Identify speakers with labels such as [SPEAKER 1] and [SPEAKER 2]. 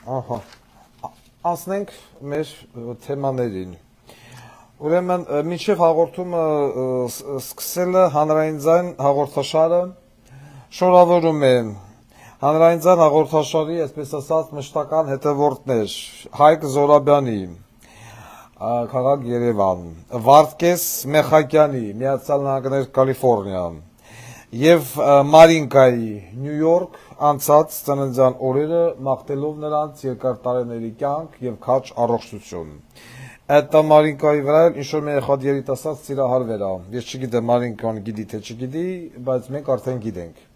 [SPEAKER 1] Ահա, անցնենք մեր թեմաներին։ Ուրեմն, մինչև հաղորդումը սկսելը հանրային ձայն հաղորդաշարը շնորհավորում է հանրային ձայն հաղորդաշարի, այսպես ասած, մշտական հետևորդներ Հայկ Զորաբյանի, քաղաք Երևան, Վարդգես Մեխակյանի, Միացյալ Նահանգներ Կալիֆոռնիա, եւ Մարինկայի Նյու Յորք անցած ծննդյան օրերը մաղթելով նրանց երկար տարիների կյանք եւ քաջ առողջություն։ Այդ Մարինկայի վրա ինչ-որ մի երիտասարդ սիրահարվեր է։ Ես չգիտեմ Մարինկան գիտի թե չգիտի, բայց մենք արդեն գիտենք։